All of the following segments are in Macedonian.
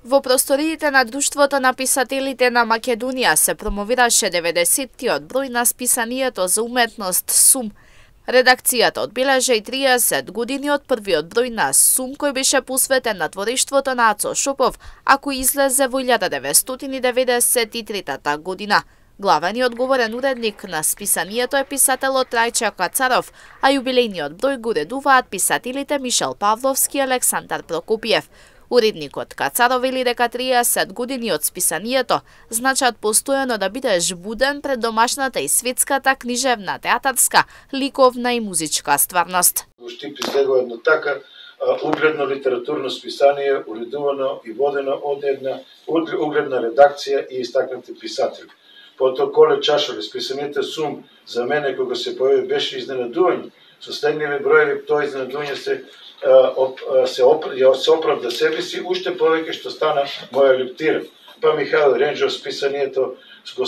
Во просториите на Друштвото на писателите на Македонија се промовираше 90-тиот број на списанието за уметност СУМ. Редакцијата одбележа и 30 години од првиот број на СУМ кој беше посветен на творештвото на Ацо Шопов, а кој излезе во 1993 година. Главен и одговорен уредник на списанието е писателот Трајче Кацаров, а јубилејниот број го уредуваат писателите Мишел Павловски и Александар Прокопиев. Уредникот Кацаров вели дека 30 години од списанието значат постојано да бидеш буден пред домашната и светската книжевна, театарска, ликовна и музичка стварност. Штип излегува едно така угледно литературно списание, уредувано и водено од една угледна редакција и истакнати писатели. Потоа Коле Чашоле, списанието СУМ, за мене кога се појави беше изненадување. Со следниве броеви тоа изненадување се оправда себе си, уште повеќе што стана моја лептира. Па Михаил Ренџов списанието го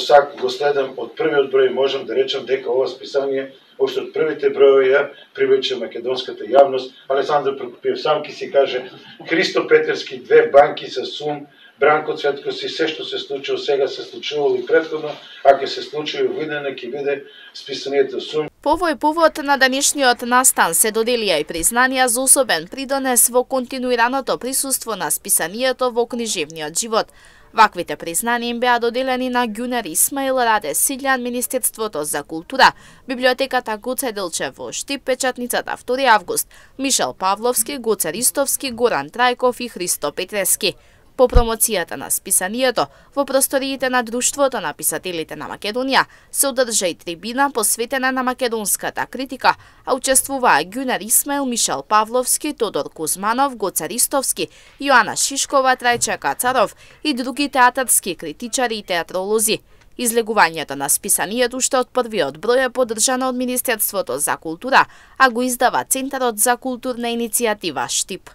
следам од првиот број, можам да речам дека ова списание уште од првите броеви ја привлече македонската јавност. Александар Прокопиев сам ки си каже, Христо Петерски, 2 банки со СУМ, Бранко Цветковски, се што се случило сега се случувало и претходно, а ќе се случи во видење ќе биде списанието СУМ. По овој повод на денешниот настан се доделија и признанија за особен придонес во континуираното присуство на списанието во книжевниот живот. Ваквите признанија им беа доделени на Ѓунер Исмаил, Раде Силјан, Министерството за култура, Библиотеката Гоце Делчев во Штип, Печатницата 2 август, Мишел Павловски, Гоце Ристовски, Горан Трајков и Христо Петрески. По промоцијата на списанието, во просториите на Друштвото на писателите на Македонија се одржа и трибина посветена на македонската критика, а учествуваа Ѓунер Исмаил, Мишел Павловски, Тодор Кузманов, Гоце Ристовски, Јоана Шишкова, Трајче Кацаров и други театарски критичари и театролози. Излегувањето на списанието уште од првиот број е поддржано од Министерството за култура, а го издава Центарот за културна иницијатива Штип.